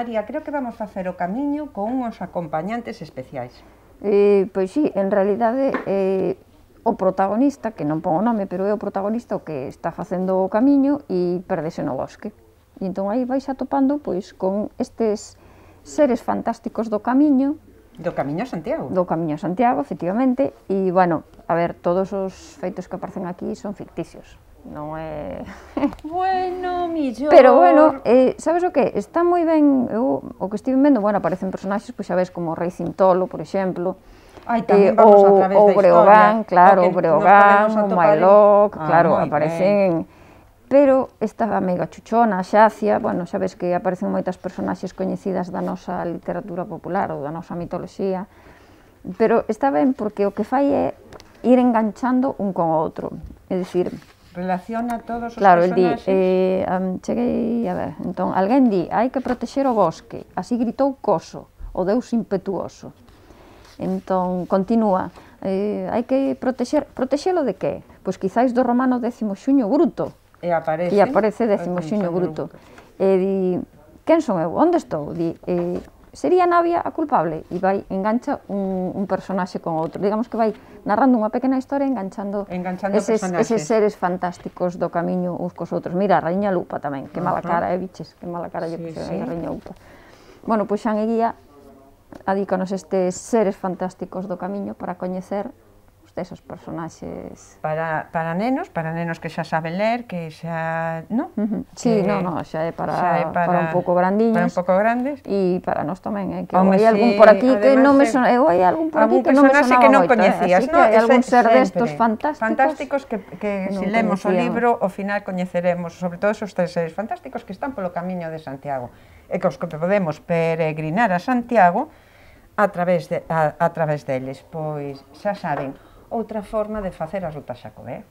María, creo que vamos facer o camiño con uns acompañantes especiais. Pois sí, en realidade o protagonista, que non pon o nome, pero é o protagonista o que está facendo o camiño e perdese no bosque. E entón aí vais atopando pois con estes seres fantásticos do camiño. Do Camiño a Santiago. Do Camiño a Santiago, efectivamente, e, bueno, a ver, todos os feitos que aparecen aquí son ficticios, non é... Bueno, millor... Pero, bueno, sabes o que? Está moi ben, eu, o que estive vendo, bueno, aparecen personaxes, pois xa ves, como o Rei Cintolo, por exemplo, tamén vamos a través da historia. O Breogán, claro, o Breogán, o Mailoc, claro, aparecen... Pero esta amiga Chuchona, a Xacia, bueno, xa ves que aparecen moitas personaxes coñecidas da nosa literatura popular ou da nosa mitoloxía, pero está ben porque o que fai é ir enganchando un con o outro, é dicir... Relaciona todos os personaxes. personaxes. Cheguei a ver, entón, alguén di, hai que protexer o bosque, así gritou Coso, o deus impetuoso. Entón, continúa, hai que protexelo de que? Pois quizáis do romano 10º Xuño Bruto, E aparece 10º Xuño Bruto. E di, quen son eu? Onde estou? Di, sería Navia a culpable? E vai, engancha un personaxe con outro. Digamos que vai narrando unha pequena historia enganchando eses seres fantásticos do camiño uns cos outros. Mira, a Raíña Lupa tamén, que mala cara, biches, que mala cara lle puxo a Raíña Lupa. Bueno, pois Xan Eguía adícanos estes seres fantásticos do camiño para coñecer desos personaxes... Para nenos que xa saben ler, que xa... non? Sí, xa é para un pouco grandiños. Para un pouco grandes. E para nós tamén, que hai algún por aquí que non me sona... Eu hai algún por aquí que non me sonaba moito, coñecías, así que hai algún ser destos fantásticos que se lemos o libro, ao final coñeceremos, sobre todo esos tres seres fantásticos que están polo Camiño de Santiago, e que os que podemos peregrinar a Santiago a través deles. Pois xa saben, outra forma de facer a Ruta Xacobea.